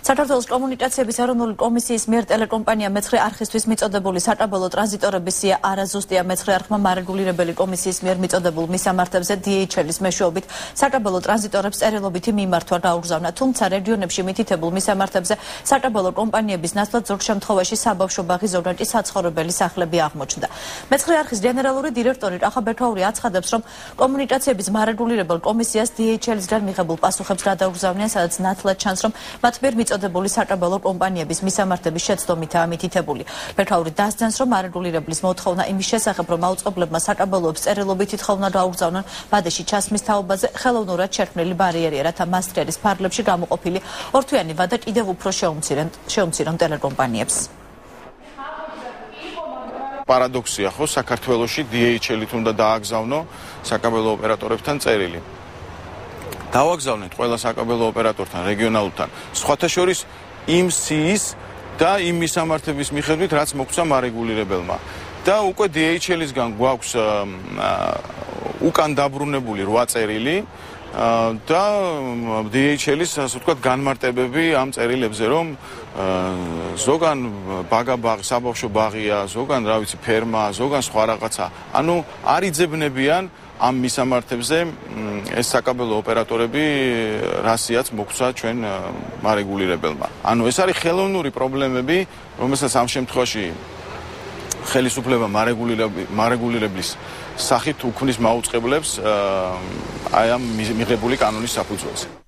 საქართველოს კომუნიკაციების ეროვნული კომისიის მიერ ტელეკომპანია მეცხრე არხისთვის მიწოდებული საჭაბელო ტრანზიტორების სია არაზუსტია. მეცხრე არხმა მარეგულირებელი კომისიის მიერ მიწოდებულ მისამართებზე DHL-ის მეშვეობით საჭაბელო ტრანზიტორებს წერილობითი მიმართვა გაუგზავნა, თუმცა რეგიონებში მითითებულ მისამართებზე საჭაბელო კომპანიების ნაცვლად ზოგ შემთხვევაში საბავშვო ბაღი, ზოგადად საცხოვრებელი სახლები აღმოჩნდა. მეცხრე არხის გენერალური დირექტორი რახა ბეთაური აცხადებს, რომ კომუნიკაციების მარეგულირებელ კომისიას DHL-ისგან მიღებულ პასუხებს გადაუგზავნიან, სადაც ნათლად ჩანს, რომ მათ მიერ მიწოდებული საჭაბელო კომპანიების მისამართების შეცდომითაა მითითებული. ბეთაური დასძენს, რომ მარეგულირებლის მოთხოვნა იმის შესახებ, რომ აუწყებლებმა საჭაბელოებს წერილობითი თხოვნა გაუგზავნონ ბადეში ჩასმის თაობაზე, ხელოვნურად შერქმნილი ბარიერია, რათა მასტრერის ფარგლებში გამოყოფილი ორთვიანი ვადა კიდევ უფრო შეუმცირონ ტელეკომპანიებს. Პარადოქსია, ხო, საქართველოში DHL-ით უნდა დააგზავნო საკაბელო ოპერატორებთან წერილი. დავაგზავნეთ ყველა საკაბელო ოპერატორთან, რეგიონალურთან, სხვათა შორის იმ სიის და იმ მისამართების მიხედვით, რაც მოგცა მარეგულირებელმა. და უკვე DHL-ისგან გვაქვს უკან დაბრუნებული 8 წერილი და DHL-ის, ასე ვთქვათ, განმარტებები ამ წერილებზე, რომ ზოგან ბაგაბაღი, საბავშვო ბაღია, ზოგან, რა ვიცი, ფერმა, ზოგან სხვა რაღაცა. ანუ არ იძებნებიან ამ მისამართებზე ეს საკაბელო ოპერატორები რასიაც მოგცა ჩვენ მარეგულირებელმა. ანუ ეს არის ხელოვნური პრობლემები, რომელსაც ამ შემთხვევაში ხელისუფლება მარეგულირებლის სახით უქმნის მაუწყებლებს აი ამ მიღებული კანონის საფუძველზე.